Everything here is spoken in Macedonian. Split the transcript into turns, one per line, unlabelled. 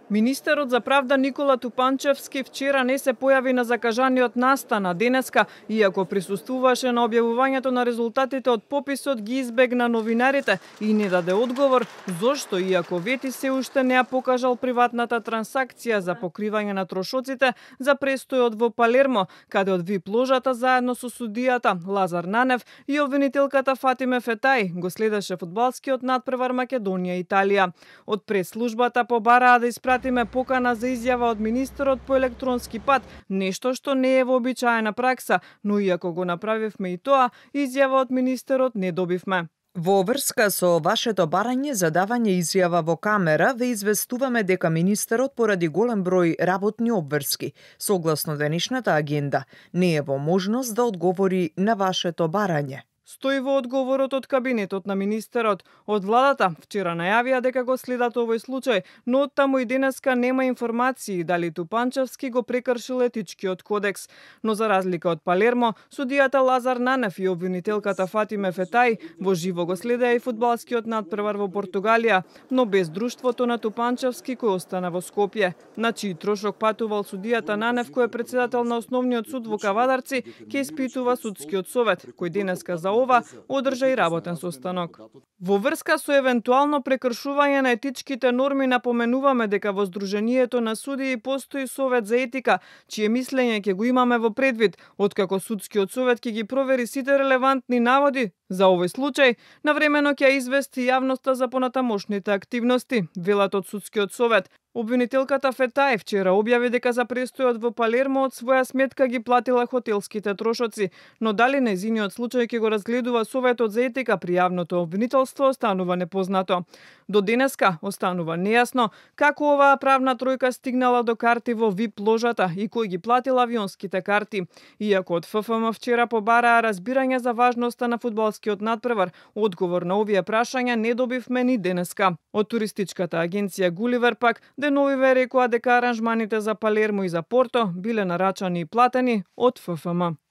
Министерот за правда Никола Тупанчевски вчера не се појави на закажаниот настан, а денеска, иако присуствуваше на објавувањето на резултатите од пописот, ги избегна новинарите и не даде одговор зошто, иако вети се уште не ја покажал приватната трансакција за покривање на трошоците за престојот во Палермо, каде од ВИП ложата заедно со судијата Лазар Нанев и обвинителката Фатиме Фетај го следеше фудбалскиот натпревар Македонија-Италија. Од прес-службата побараа да испратиме покана за изјава од министерот по електронски пат, нешто што не е вообичаена пракса, но иако го направивме и тоа, изјава од министерот не добивме.
Во врска со вашето барање за давање изјава во камера, ве известуваме дека министерот поради голем број работни обврски, согласно денешната агенда, не е во можност да одговори на вашето барање.
Стои во одговорот од кабинетот на министерот. Од владата вчера најавија дека го следат овој случај, но оттаму и денеска нема информации дали Тупанчевски го прекршил етичкиот кодекс. Но за разлика од Палермо, судијата Лазар Нанев и обвинителката Фатиме Фетај во живо го следеа и фудбалскиот надпревар во Португалија, но без друштвото на Тупанчевски кој остана во Скопје. На чиј трошок патувал судијата Нанев, кој е председател на Основниот суд во Кавадарци, ќе испитува судскиот совет, кој денеска за ова одржа и работен состанок. Во врска со евентуално прекршување на етичките норми напоменуваме дека во Сдруженијето на судии постои совет за етика, чие мислење ќе го имаме во предвид, откако судскиот совет ќе ги провери сите релевантни наводи за овој случај, навремено ќе извести јавноста за понатамошните активности, велат од судскиот совет. Обвинителката Фетај вчера објави дека за престојот во Палермо од своја сметка ги платила хотелските трошоци, но дали нејзиниот случај ќе го разгледува Советот за етика при јавното обвинителство останува непознато. До денеска останува нејасно како оваа правна тројка стигнала до карти во ВИП ложата и кој ги платил авионските карти. Иако од ФФМ вчера побараа разбирање за важноста на фудбалскиот надпревар, одговор на овие прашања не добивме ни денеска. Од туристичката агенција Гуливер пак деновиве рекоа дека аранжманите за Палермо и за Порто биле нарачани и платени од ФФМ.